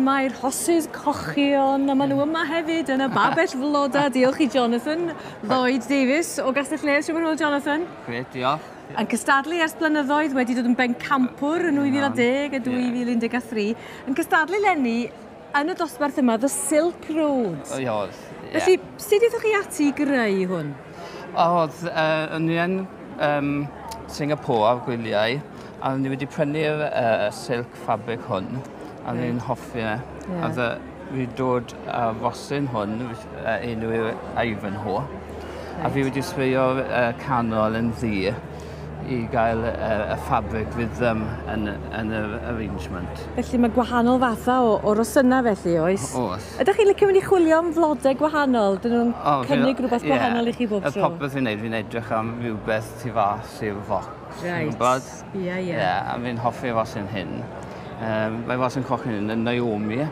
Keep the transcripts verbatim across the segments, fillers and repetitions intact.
yma i'r rhosys cochion, a maen nhw yma hefyd yn y babell floda. Diolch i Jonathan Lloyd Davies o Gastell Nedd. Siwr hwyl, Jonathan? Grêt, diolch. Yn cystadlu ers blynyddoedd, wedi dod yn bencampwr yn dwy fil a deg a dwy fil un deg tri. Yn cystadlu 'leni yn y dosbarth yma, The Silk Road. O, oedd. Felly, sut aethoch chi ati i greu hwn? Oedd, uh, o'n i yn um, Singapore ar gwyliau, a o'n i wedi prynu'r uh, silk fabric hwn, a o'n i'n hoffi e. Ie. A dde, fi dod â rosyn hwn, uh, enw yw Ivanhoe, a fi wedi sbreio'r uh, canol yn ddu i gael uh, y fabric rhythm yn, yn yr arrangement. Felly mae gwahanol fathau o, o rosynau felly, oes? Oes. Ydych chi'n licio mynd i chwilio am flodau gwahanol? Dyn nhw'n O, fi- cynnig rhywbeth ie. gwahanol i chi bob Y tro? popeth fi'n neud, fi'n edrych am rhywbeth tu fas i'r focs. Reit. Gwybod? Ie, ie. Ie, a fi'n hoffi rosyn hyn. Um, mae rosyn coch hyn yn Naomi.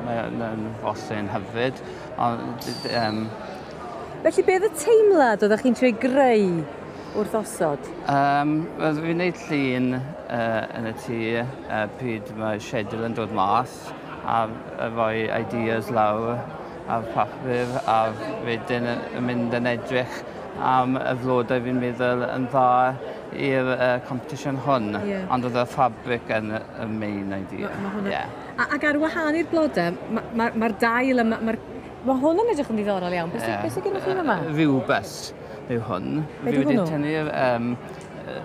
Mae'n rosyn hyfryd. Ond, um, Felly, beth y teimlad oeddech chi'n trio greu wrth osod? um, wel, fi'n neud llun uh, yn y tŷ uh, pryd mae schedule yn dod mas a, a rhoi ideas lawr ar papur a wedyn yn mynd yn edrych am y flodau fi'n meddwl yn dda i'r uh, competition hwn. Ie. Ond oedd y fabric yn y y main idea. Ma' ma' hwnna- Ie. A, ac ar wahân i'r blodau, mae'r ma, ma ma'r dail yma... Mae'r ma hwn yn edrych yn ddiddorol iawn. Beth Ie. yeah. sydd gennych chi yma? Rhywbeth yw hwn. Be Fi 'di wedi hwnnw? tynnu'r um,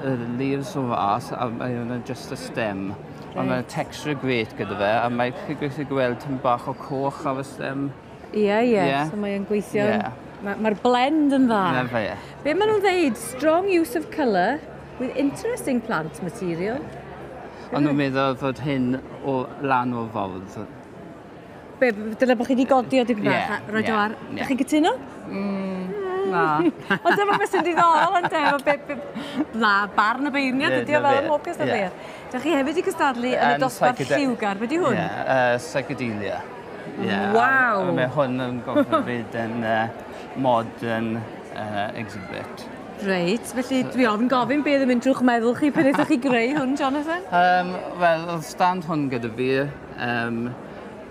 y leaves o fas a mae hwnna'n just y stem. Ond mae'n texture great gyda fe a mae'n chi'n gallu gweld tipyn bach o coch ar y stem. Ie, ie. Ie. So mae'n gweithio. Ie. Mae'r ma blend yn dda. Na fe. Be maen nhw'n dweud? "Strong use of colour with interesting plant material." Ond nhw'n meddwl fod hyn o lan o'r ffordd. Be, dyna bod chi wedi godi o dipyn bach Ie, a roed o ie, ar. ie. Ydych chi'n cytuno? Na. Ond dyma beth sy'n diddorol yn de, be, be, na, barn y beirniad Ie, ydi o na fel fe, ym mhob cystadleuaeth. Dych chi hefyd i cystadlu yn y Yn dosbarth psychede- lliwgar. Be di hwn? Ie, uh, psychedelia. Ie, a- Waw. A mae hwn yn gorfod fyd yn uh, modern uh, exhibit. Reit, felly dwi ofn gofyn beth yn mynd drwy'ch meddwl chi pan ydych chi greu hwn, Jonathan? Um, Wel, oedd stand hwn gyda fi, um,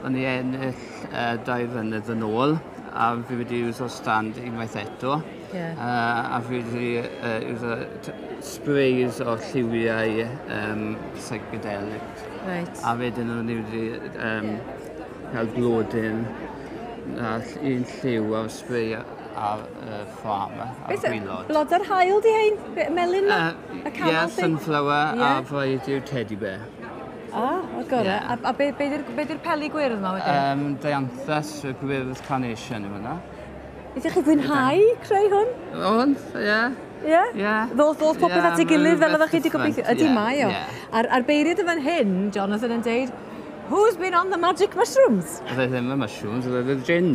o'n i ennill uh, dau flynedd yn ôl, a fi wedi iwso stand unwaith eto. Ie. Uh, a fi wedi uh, iwso t- sprays o lliwiau um, psychedelic. Reit. A wedyn o'n i wedi um, cael blodyn a un lliw o'r spray ar y ffrâm ar Beth, gwaelod. blodau'r haul di hein? Be- Melyn ma? Uh, Y canol Ie, thing? sunflower Ie. a variety yw teddy bear. Ah, o gore. Ie. A, a be, be di'r be di'r peli gwyrdd yma wedyn? Um, Dianthus, y gwyrdd carnation yw hwnna. Ydych chi fwynhau creu hwn? Ond, ie. Ie? Ie. Ddoth, ddoth popeth Ie, at ei gilydd fel ma' oeddech chi wedi rhywbeth gobeithio. different, Ydy ie, mae o. ie. A'r, a'r beirniad yn fan hyn, Jonathan yn deud, "Who's been on the magic mushrooms?" Oedd e ddim y mushrooms, oedd e gin.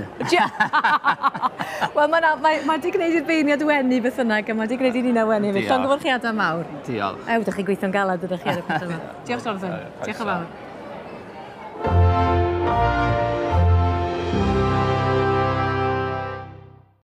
Wel, mae mae, mae 'di gwneud i'r beirniad wenu beth bynnag, a mae 'di gwneud i nina wenu hefyd. Diolch. Llongyfarchiadau mawr. Diolch. Ew, ydych chi'n gweithio'n galad ydych chi ar y peth yma. Diolch, Jonathan. Diolch yn fawr.